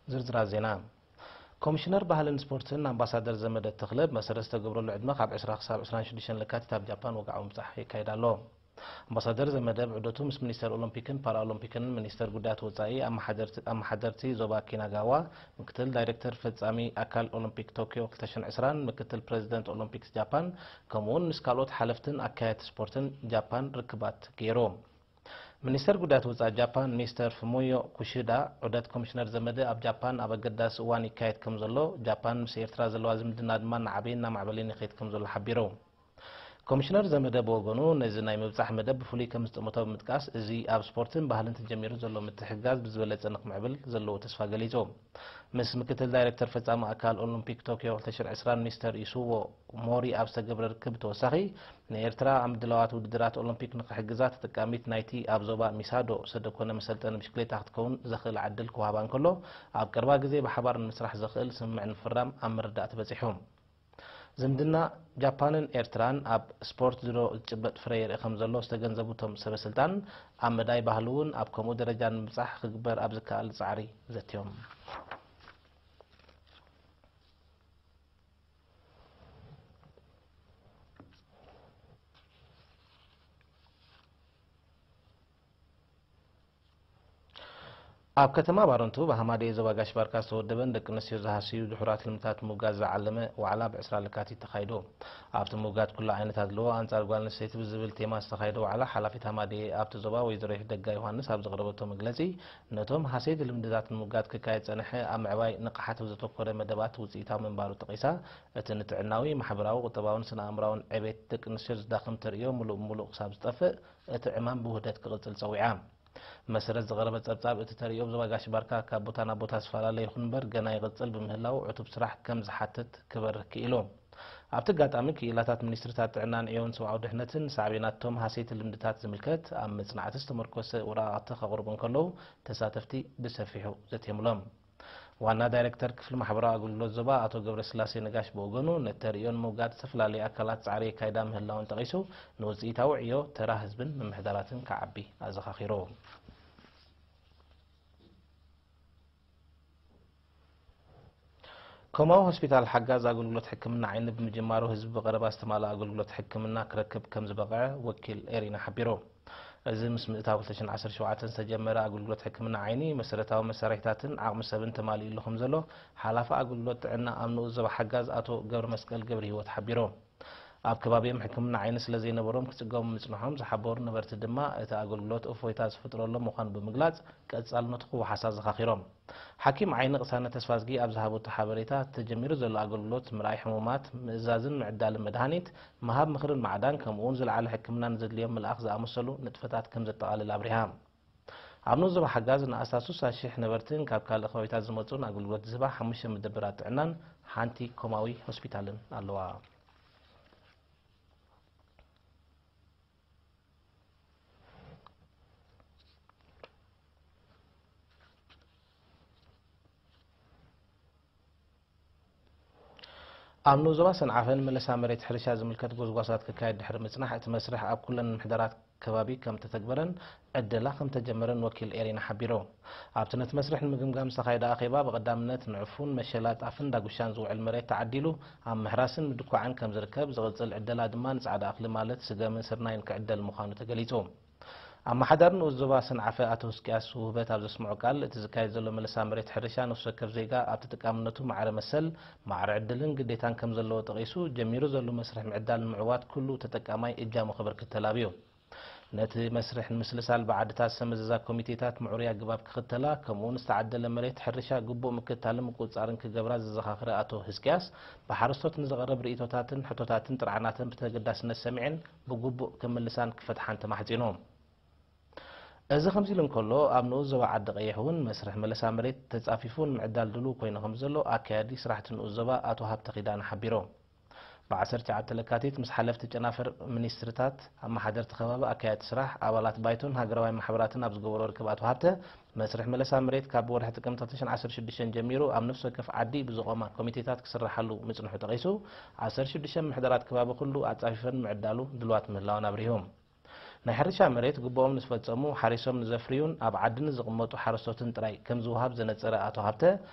ዝርዝራት ዜና። ኮሚሽነር ባህልን ስፖርትን ኣምባሳደር ዘመደ ተኽለ፣ መሰረት ዝተገብረሉ ዕድመ ካብ ዕስራ ክሳብ ዕስራን ሽዱሽተን ለካቲት ኣብ ጃፓን ወግዓዊ ምብጻሕ የካይድ ኣሎ። ኣምባሳደር ዘመደ ብዑደቱ ምስ ሚኒስተር ኦሎምፒክን ፓራኦሎምፒክን፣ ሚኒስተር ጉዳያት ወጻኢ፣ ኣመሓደርቲ፣ ኣመሓደርቲ ዞባ ኪናጋዋ፣ ምክትል ዳይሬክተር ፈጻሚ ኣካል ኦሎምፒክ ቶክዮ ክልተ ሽሕን ዕስራን፣ ምክትል ፕረዚደንት ኦሎምፒክስ ጃፓን፣ ከምኡውን ምስ ካልኦት ሓለፍትን ኣካየድቲ ስፖርትን ጃፓን ርክባት ገይሩ። ሚኒስተር ጉዳያት ወጻኢ ጃፓን ሚስተር ፍሙዮ ኩሽዳ፣ ዑደት ኮሚሽነር ዘመደ ኣብ ጃፓን ኣብ ኣገዳሲ እዋን ይካየድ ከም ዘሎ፣ ጃፓን ምስ ኤርትራ ዘለዋ ዝምድና ድማ እናዓበየን እናማዕበለን ይኸይድ ከም ዘሎ ሓቢሩ። ኮሚሽነር ዘመደ ብወገኑ፣ ነዚ ናይ ምብጻሕ መደብ ብፍሉይ ከም ዝጠመቶ ብምጥቃስ፣ እዚ ኣብ ስፖርትን ባህልን ተጀሚሩ ዘሎ ምትሕግጋዝ ብዝበለጸ ንክምዕብል ዘለዎ ተስፋ ገሊጹ። ምስ ምክትል ዳይሬክተር ፈጻሚ ኣካል ኦሎምፒክ ቶክዮ ክልተ ሽሕን ዕስራን ሚስተር ኢሱዎ ሞሪ ኣብ ዝተገብረ ርክብ ብተወሳኺ፣ ንኤርትራ ኣብ ምድላዋት ውድድራት ኦሎምፒክ ንክሕግዛ ተጠቃሚት ናይቲ ኣብ ዞባ ሚሳዶ ሰደኮነ መሰልጠኒ ብሽክሌታ ክትከውን ዘኽእል ዕድል ክወሃባ እንከሎ፣ ኣብ ቀረባ ግዜ ብሓባር ንምስራሕ ዘኽእል ስምምዕ ንምፍራም ኣብ ምርዳእ ተበጺሑ። ዝምድና ጃፓንን ኤርትራን ኣብ ስፖርት ድሮ ዝጭበጥ ፍረ የርኢ ከም ዘሎ ዝተገንዘቡ እቶም ሰበ ስልጣን፣ ኣብ መዳይ ባህሊ እውን ኣብ ከምኡ ደረጃ ንምብጻሕ ክግበር ኣብ ዝከኣል ጻዕሪ ዘትዮም። ኣብ ከተማ ባረንቱ ብሃማደኤ ዞባ ጋሽ ባርካ ዝተወደበን ደቂ ኣንስትዮ ዝሃስዩ ድሑራት ልምድታት ምውጋድ ዝዓለመ ዋዕላ ብ ዕስራ ለካቲት ተኻይዱ። ኣብቲ ምውጋድ ኩሉ ዓይነት ኣድልዎ ኣንጻር ጓል ኣንስተይቲ ብዝብል ቴማ ዝተኻየደ ዋዕላ፣ ሓላፊት ሃማደኤ ኣብቲ ዞባ ወይዘሮ ይሕደጋ ዮሃንስ ኣብ ዘቕረበቶ መግለጺ፣ ነቶም ሃሰይቲ ልምድታት ንምውጋድ ክካየድ ጸንሐ ኣብ ምዕባይ ንቕሓት ብዘተኮረ መደባት ውጽኢታዊ ምንባሩ ጠቒሳ፣ እቲ ንጥዕናዊ፣ ማሕበራዊ፣ ቁጠባውን ስነ ኣእምራውን ዕቤት ደቂ ኣንስትዮ ዝዳኽም ተርእዮ ምሉእ ብምሉእ ክሳብ ዝጠፍእ፣ እቲ ዕማም ብውህደት ክቕጽል ጸዊዓ። መሰረት ዝቐረበ ጸብጻብ፣ እቲ ተርእዮ ብዞባ ጋሽ ባርካ ካብ ቦታ ናብ ቦታ ዝፈላለ ይኹን እምበር፣ ገና ይቕጽል ብምህላው፣ ዕቱብ ስራሕ ከም ዝሓትት ክበርህ ክኢሉ። ኣብቲ ኣጋጣሚ፣ ክኢላታት ሚኒስትሪታት ጥዕናን ዕዮን ሰብኣዊ ድሕነትን፣ ሳዕቤናት እቶም ሃሰይቲ ልምድታት ዝምልከት ኣብ መጽናዕቲ ዝተመርኮሰ ወረቓቕቲ ከቕርቡ እንከለዉ፣ ተሳተፍቲ ብሰፊሑ ዘትየምሎም። ዋና ዳይሬክተር ክፍሊ ማሕበራዊ ኣገልግሎት ዞባ ኣቶ ገብረስላሴ ነጋሽ ብወገኑ፣ ነቲ ተርእዮ ንምውጋድ ዝተፈላለዩ ኣካላት ጻዕሪ የካይዳ ምህላወን ጠቒሱ፣ ንውጽኢታዊ ዕዮ ተራ ህዝብን ምምሕዳራትን ክዓቢ ኣዘኻኺሩ። ኮማዊ ሆስፒታል ሓጋዝ ኣገልግሎት ሕክምና ዓይኒ ብምጅማሩ፣ ህዝቢ ብቐረባ ዝተማልኣ ኣገልግሎት ሕክምና ክረክብ ከም ዝበቕዐ ወኪል ኤሪና ሓቢሩ። እዚ ምስ ምእታው ክልተ ሽሕን ዓሰርተ ሸውዓተን ዝተጀመረ ኣገልግሎት ሕክምና ዓይኒ፣ መሰረታዊ መሳርሒታትን ዓቕሚ ሰብን ተማሊኡሉ ከም ዘሎ፣ ሓላፊ ኣገልግሎት ጥዕና ኣብ ንኡስ ዞባ ሓጋዝ ኣቶ ገብረ መስቀል ገብረ ህይወት ሓቢሩ። ኣብ ከባቢኦም ሕክምና ዓይኒ ስለ ዘይነበሮም ክጽገሙ ምጽንሖም ዝሓበሩ ነበርቲ ድማ፣ እቲ ኣገልግሎት እፎይታ ዝፈጥረሎም ምዃኑ ብምግላጽ፣ ቀጻልነቱ ክወሓስ ኣዘኻኺሮም። ሓኪም ዓይኒ ቅሳነት ተስፋዝጊ ኣብ ዝሃበቶ ሓበሬታ፣ ተጀሚሩ ዘሎ ኣገልግሎት ምርኣይ ሕሙማት፣ ምእዛዝን ምዕዳልን መድሃኒት፣ ምሃብ ምኽርን ማዕዳን፣ ከምኡ'ውን ዝለዓለ ሕክምና ንዘድልዮም ምልኣኽ ዝኣመሰሉ ንጥፈታት ከም ዘጠቓልል ኣብሪሃ። ኣብ ንኡስ ዞባ ሓጋዝ ንኣስታት ስሳ ሽሕ ነበርትን ካብ ካልእ ከባቢታት ዝመጹን ኣገልግሎት ዝህባ ሓሙሽተ መደበራት ጥዕናን ሓንቲ ኮማዊ ሆስፒታልን ኣለዋ። ኣብ ንኡስ ዞባ ሰንዓፈ ንመለሳ መሬት ሕርሻ ዝምልከት ጎስጓሳት ክካየድ ድሕሪ ምጽናሕ፣ እቲ መስርሕ ኣብ ኩለን ምሕደራት ከባቢ ከም እተተግበረን ዕደላ ከም እተጀመረን ወኪል ኤሪና ሓቢሩ። ኣብቲ ነቲ መስርሕ ንምግምጋም ዝተኻየደ ኣኼባ፣ ብቐዳምነት ንዕፉን፣ መሸላ፣ ጣፍን ዳጉሻን ዝውዕል መሬት ተዓዲሉ ኣብ ምሕራስን ምድኳዕን ከም ዝርከብ፣ ዝቕጽል ዕደላ ድማ ንጻዕዳ እኽሊ ማለት ስገምን ስርናይን ክዕደል ምዃኑ ተገሊጹ። ኣመሓዳሪ ንኡስ ዞባ ሰንዓፈ ኣቶ ህዝቅያስ ውህበት ኣብ ዘስምዖ ቃል፣ እቲ ዝካየድ ዘሎ መለሳ መሬት ሕርሻ ነፍሲ ወከፍ ዜጋ ኣብ ተጠቃምነቱ ማዕረ መሰል፣ ማዕረ ዕድልን ግዴታን ከም ዘለዎ ጠቒሱ፣ ጀሚሩ ዘሎ መስርሕ ምዕዳል ንምዕዋት ኩሉ ተጠቃማይ እጃሙ ከበርክት ተላብዩ። ነቲ መስርሕ ንምስልሳል ብዓድታት ዝተመዘዛ ኮሚቴታት ምዕሩይ ኣገባብ ክኽተላ፣ ከምኡውን ዝተዓደለ መሬት ሕርሻ ግቡእ ምክትታልን ምቁጽጻርን ክገብራ ዘዘኻኽረ ኣቶ ህዝቅያስ፣ ብሓረስቶት ንዝቐርብ ርእይቶታትን ሕቶታትን ጥርዓናትን ብተገዳስነት ሰሚዐን ብግቡእ ክምልሳን ክፈትሓን ተማሕጺኑ። እዚ ከምዚ ኢሉ እንከሎ፣ ኣብ ንኡስ ዞባ ዓዲ ቀይሕ እውን መስርሕ መለሳ መሬት ተጻፊፉ ንምዕዳል ድሉው ኮይኑ ከም ዘሎ ኣካያዲ ስራሕቲ ንኡስ ዞባ ኣቶ ሃብተ ኪዳነ ሓቢሮም። ብ ዓሰርተ ትሽዓተ ለካቲት ምስ ሓለፍቲ ጨናፍር ሚኒስትሪታት፣ ኣመሓደርቲ ከባቢ፣ ኣካየድቲ ስራሕ፣ ኣባላት ባይቶን ሃገራውያን ማሕበራትን ኣብ ዝገበሮ ርክብ ኣቶ ሃብተ፣ መስርሕ መለሳ መሬት ካብ ወርሒ ጥቅምቲ ክልተ ሽሕን ዓሰርተ ሽዱሽተን ጀሚሩ ኣብ ነፍሲ ወከፍ ዓዲ ብዝቖማ ኮሚቴታት ክስራሓሉ ምጽንሑ ጠቒሱ፣ ዓሰርተ ሽዱሽተ ምሕደራት ከባቢ ኩሉ ኣጻፊፈን ምዕዳሉ ድልዋት ምህላወን ኣብሪሁ። ናይ ሕርሻ መሬት ግቡኦም ንዝፈጸሙ፣ ሓሪሶም ንዘፍርዩን ኣብ ዓዲ ንዝቕመጡ ሓረስቶትን ጥራይ ከም ዝወሃብ ዘነጸረ ኣቶ ሃብተ፣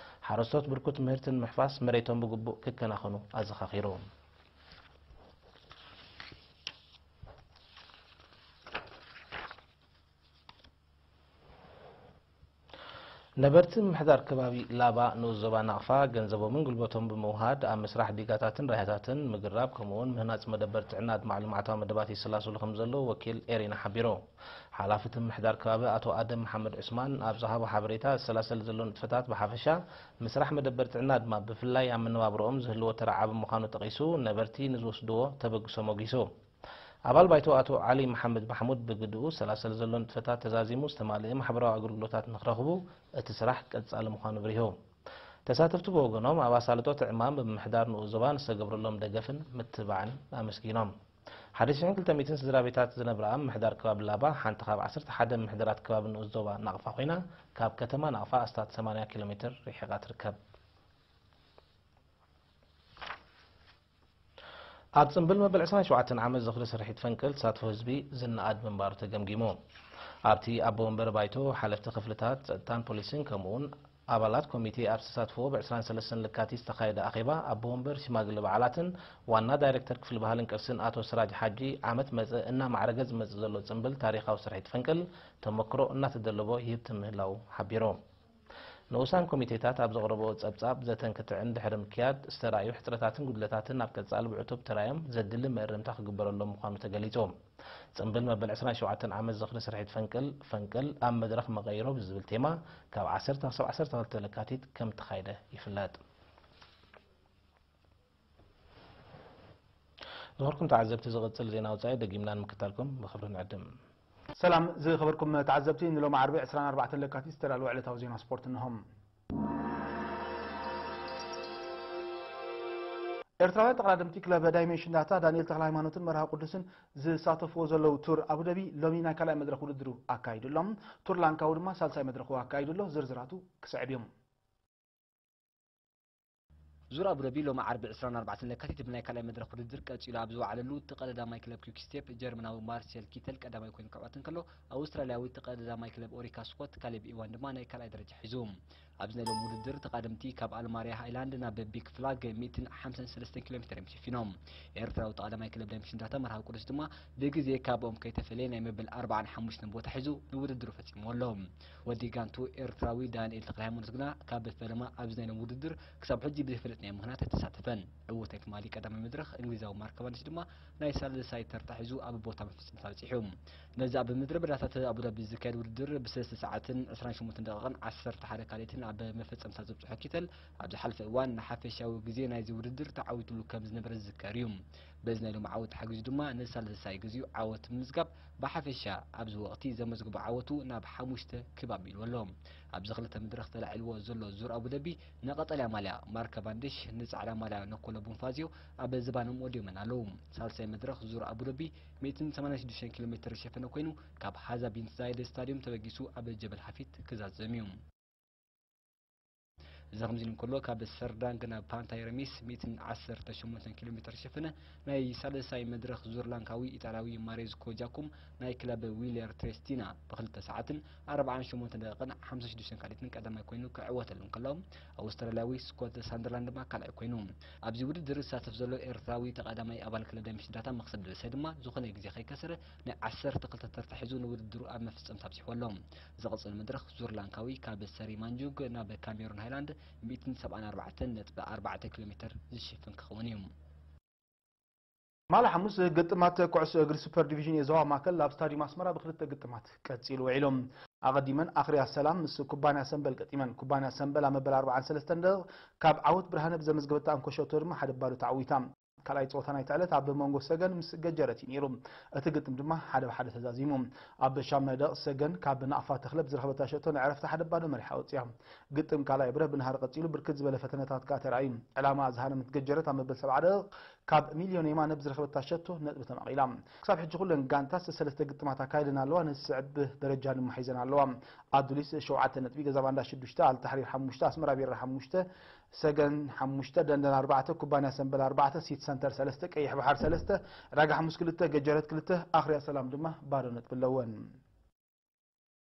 ሓረስቶት ብርኩት ምህርቲ ንምሕፋስ መሬቶም ብግቡእ ክከናኸኑ ኣዘኻኺሩ። ነበርቲ ምምሕዳር ከባቢ ላባ ንኡስ ዞባ ናቕፋ ገንዘቦምን ጉልበቶም ብምውሃድ ኣብ ምስራሕ ዲጋታትን ራያታትን፣ ምግራብ፣ ከምኡውን ምህናጽ መደበር ጥዕና ኣድማዕ ልምዓታዊ መደባት ይሰላስሉ ከም ዘለዉ ወኪል ኤሪና ሓቢሩ። ሓላፊ እቲ ምምሕዳር ከባቢ ኣቶ ኣደም መሓመድ ዑስማን ኣብ ዝሃቦ ሓበሬታ፣ ዝሰላሰል ዘሎ ንጥፈታት ብሓፈሻ፣ ምስራሕ መደበር ጥዕና ድማ ብፍላይ ኣብ መነባብሮኦም ዝህልዎ ተራ ዓቢ ምዃኑ ጠቒሱ፣ ነበርቲ ንዝወስድዎ ተበግሶ ሞጊሱ። ኣባል ባይቶ ኣቶ ዓሊ መሓመድ ማሕሙድ ብግድኡ፣ ዝሰላሰል ዘሎ ንጥፈታት ተዛዚሙ ዝተማልአ ማሕበራዊ ኣገልግሎታት ንክረኽቡ እቲ ስራሕ ቀጻሊ ምዃኑ ኣብሪሁ። ተሳተፍቲ ብወገኖም፣ ኣብ ኣሳልጦ እቲ ዕማም ብምምሕዳር ንኡስ ዞባ ንዝተገብረሎም ደገፍን ምትብባዕን ኣመስጊኖም። ሓደ ሽሕን ክልተ ሚእትን ስድራ ቤታት ዝነብራ ምምሕዳር ከባቢ ላባ፣ ሓንቲ ካብ ዓሰርተ ሓደ ምምሕዳራት ከባቢ ንኡስ ዞባ ናቕፋ ኮይና፣ ካብ ከተማ ናቕፋ ኣስታት ሰማንያ ኪሎ ሜትር ርሒቓ ትርከብ። ኣብ ጽምብል መበል ዕስራን ሸውዓተን ዓመት ዝኽሪ ስርሒት ፈንቅል ተሳትፎ ህዝቢ ዝነኣድ ምንባሩ ተገምጊሙ። ኣብቲ ኣቦ ወንበር ባይቶ፣ ሓለፍቲ ክፍልታት ጸጥታን ፖሊስን፣ ከምኡውን ኣባላት ኮሚቴ ኣብ ዝተሳትፍዎ፣ ብ ዕስራን ሰለስተን ለካቲት ዝተኻየደ ኣኼባ፣ ኣቦ ወንበር ሽማግለ በዓላትን ዋና ዳይሬክተር ክፍሊ ባህልን ቅርስን ኣቶ ስራጅ ሓጂ፣ ዓመት መጸ እናማዕረገ ዝመጽእ ዘሎ ጽምብል ታሪኻዊ ስርሒት ፈንቅል ተመክሮ እናተደለቦ ይህብትም ምህላዉ ሓቢሩ። ንኡሳን ኮሚቴታት ኣብ ዘቕረብኦ ጸብጻብ፣ ዘተን ክትዕን ድሕሪ ምክያድ፣ ዝተራእዩ ሕጽረታትን ጉድለታትን ኣብ ቀጻሊ ብዕቱብ ተራእዮም ዘድሊ መእረምታ ክግበረሎም ምዃኑ ተገሊጹ። ጽምብል መበል ዕስራን ሸውዓተን ዓመት ዝኽሪ ስርሒት ፈንቅል፣ ፈንቅል ኣብ መድረኽ መቐይሮ ብዝብል ቴማ፣ ካብ ዓሰርተ ክሳብ ዓሰርተ ክልተ ለካቲት ከም እተኻየደ ይፍለጥ። ዝኸበርኩም ተዓዘብቲ፣ ዝቕጽል ዜና ወጻኢ ደጊምና ንምክታልኩም ብኽብሪ ንዕድም። ሰላም ዝኸበርኩም ተዓዘብቲ፣ ንሎሚ ዓርቢ ዕስራን ኣርባዕተን ለካቲት ዝተዳለወ ዕለታዊ ዜና ስፖርት እንሆም። ኤርትራውያን ተቐዳደምቲ ክለብ ዳይሜንሽን ዳታ ዳንኤል ተኽለ ሃይማኖትን መርሃ ቅዱስን ዝሳተፍዎ ዘለዉ ቱር ኣቡደቢ ሎሚ ናይ ካልኣይ መድረኽ ውድድሩ ኣካይዱ ኣሎ። ቱር ላንካዊ ድማ ሳልሳይ መድረኹ ኣካይዱ ኣሎ። ዝርዝራቱ ክስዕብ እዮም። ዙር ኣቡደቢ ሎሚ ዓርቢ ዕስራን ኣርባዕተን ለካቲት ብናይ ካልኣይ መድረኽ ውድድር ቀጺሉ ኣብ ዝወዓለሉ፣ እቲ ቀዳማይ ክለብ ኲክ ስቴፕ ጀርመናዊ ማርሴል ኪተል ቀዳማይ ኮይኑ ክዕወት እንከሎ፣ ኣውስትራልያዊ እቲ ቀዳማይ ክለብ ኦሪካ ስኮት ካሌብ ኢዋን ድማ ናይ ካልኣይ ደረጃ ሒዙ። ኣብዚ ናይ ሎሚ ውድድር ተቓደምቲ ካብ ኣልማርያ ሃይላንድ ናብ ቢግ ፍላግ ሚእትን ሓምሳን ሰለስተን ኪሎ ሜትር እዮም ሸፊኖም። ኤርትራዊ ተቓዳማይ ክለብ ዳይመሽን ዳታ መርሃዊ ቅዱስ ድማ ብግዜ ካብኦም ከይተፈለየ ናይ መበል ኣርባዓን ሓሙሽተን ቦታ ሒዙ ንውድድሩ ፈጺምዎ ኣሎ። ወዲ ጋንቱ ኤርትራዊ ዳንኤል ተክለሃይማኖት ግና ካብ ፈለማ ኣብዚ ናይ ሎም ውድድር ክሳብ ሕጂ ብዘይፈለጥናዮ ምኽንያት ኣይተሳተፈን። ዕዉት ናይ ትማሊ ቀዳማይ መድረኽ እንግሊዛዊ ማርክ ካቫንዲሽ ድማ ናይ ሳልሳይ ተርታ ሒዙ ኣብ ቦታ መፈጸምታ በጺሑ። ነዚ ኣብ ምድረ በዳታት ኣቡዳቢ ዝካየድ ውድድር ብሰለስተ ሰዓትን ዕስራን ሸሞንተን ደቂቕን ዓሰርተ ሓደ ካልኢትን ኣብ መፈጸምታ ዘብጽሖ ኪተል፣ ኣብ ዝሓለፈ እዋን ንሓፈሻዊ ግዜ ናይዚ ውድድር ተዓዊትሉ ከም ዝነበረ ዝዝከር እዩ። በዚ ናይ ሎሚ ዓወት ተሓጊዙ ድማ ንሳልሳይ ግዜኡ ዓወት ብምምዝጋብ፣ ብሓፈሻ ኣብዚ ወቕቲ ዘመዝግቦ ዓወቱ ናብ ሓሙሽተ ክብ ኣቢልዎ ኣሎ። ኣብዚ ክልተ መድረኽ ተላዒልዎ ዘሎ ዙር ኣቡደቢ፣ ንቀጠልያ ማልያ ማርክ ካቫንዲሽ፣ ንጻዕዳ ማልያ ነኮሎ ቦንፋዚዮ ኣብ ዝባኖም ወዲዮመን ኣለዉ። ሳልሳይ መድረኽ ዙር ኣቡደቢ ሚእትን ሰማንያን ሽዱሽተን ኪሎ ሜትር ዝሸፈነ ኮይኑ፣ ካብ ሃዛ ቢን ዛይድ ስታድዮም ተበጊሱ ኣብ ጀበል ሃፊት ክዛዘም እዩ። እዚ ከምዚ ኢሉ እንከሎ፣ ካብ ሰርዳንግ ናብ ፓንታይ ረሚስ ሚእትን ዓሰርተ ሸሞንተን ኪሎ ሜትር ዝሸፈነ ናይ ሳልሳይ መድረኽ ዙር ላንካዊ ኢጣልያዊ ማሬዝኮ ጃኩም ናይ ክለብ ዊለር ትሬስቲና ብክልተ ሰዓትን ኣርባዓን ሸሞንተን ደቂቕን ሓምሳን ሽዱሽተን ካልኢትን ቀዳማይ ኮይኑ ክዕወተሉ እንከሎ፣ ኣውስትራልያዊ ስኮት ሳንደርላንድ ድማ ካልኣይ ኮይኑ። ኣብዚ ውድድር ዝሳተፍ ዘሎ ኤርትራዊ ተቐዳማይ ኣባል ክለብ ዳይመንሽን ዳታ መኽሰብ ደበሳይ ድማ ዝኾነ ግዜ ከይከሰረ ናይ ዓሰርተ ክልተ ተርታ ሒዙ ንውድድሩ ኣብ መፈጸምታ ኣብጺሕዎ ኣሎ። ዝቕጽል መድረኽ ዙር ላንካዊ ካብ ሰሪ ማንጁግ ናብ ካሜሩን ሃይላንድ ሚእትን ሰብዓን ኣርባዕተን ነጥቢ ኣርባዕተ ኪሎ ሜትር ዝሽፍን ክኸውን እዩ። ማለ ሓሙስ ግጥማት ኩዕሶ እግሪ ሱፐር ዲቪዥን የዞባ ማእከል ኣብ ስታዲየም ኣስመራ ብክልተ ግጥማት ቀጺሉ ውዒሉ። ኣቐዲመን ኣኽርያ ሰላም ምስ ኩባንያ ሰምበል ገጢመን። ኩባንያ ሰምበል ኣብ መበል ኣርባዓን ሰለስተን ደቂቕ ካብ ዓወት ብርሃነ ብዘመዝገበታ እንኮ ሸቶ ድማ ሓደ ባዶ ተዓዊታ። ካልኣይ ጸወታ ናይታ ዕለት ኣብ መንጎ ሰገን ምስ ገጀረት እዩ ነይሩ። እቲ ግጥም ድማ ሓደ ብሓደ ተዛዚሙ። ኣብ ሻምናይ ደቂቕ ሰገን ካብ ናቕፋ ተኽለ ብዝረኸበታ ሸቶ ንዕረፍቲ ሓደ ባዶ መሪሓ ወጺኣ። ግጥም ካልኣይ ብረህ ብንሃር ቀጺሉ ብርክት ዝበለ ፈተነታት ከኣ ተራእዩ። ዕላማ ዝሃነመት ገጀረት ኣብ መበል ሰብዓ ደቂቕ ካብ ሚልዮን የማነ ብዝረኸበታ ሸቶ ነጥቢ ተማቒላ። ክሳብ ሕጂ ኩለን ጋንታት ሰለስተ ግጥማት ኣካይደን ኣለዋ፣ ንዝስዕብ ደረጃ ድማ ሒዘን ኣለዋ። ኣዱሊስ ሸውዓተ ነጥቢ፣ ገዛ ባንዳ ሽዱሽተ፣ ኣልታሕሪር ሓሙሽተ፣ ኣስመራ ቢራ ሓሙሽተ፣ ሰገን ሓሙሽተ፣ ደንደን ኣርባዕተ፣ ኩባንያ ሰምበል ኣርባዕተ፣ ሲቲ ሰንተር ሰለስተ፣ ቀይሕ ባሕር ሰለስተ፣ ዕዳጋ ሓሙስ ክልተ፣ ገጀረት ክልተ፣ ኣኽርያ ሰላም ድማ ባዶ ነጥቢ ኣለወን።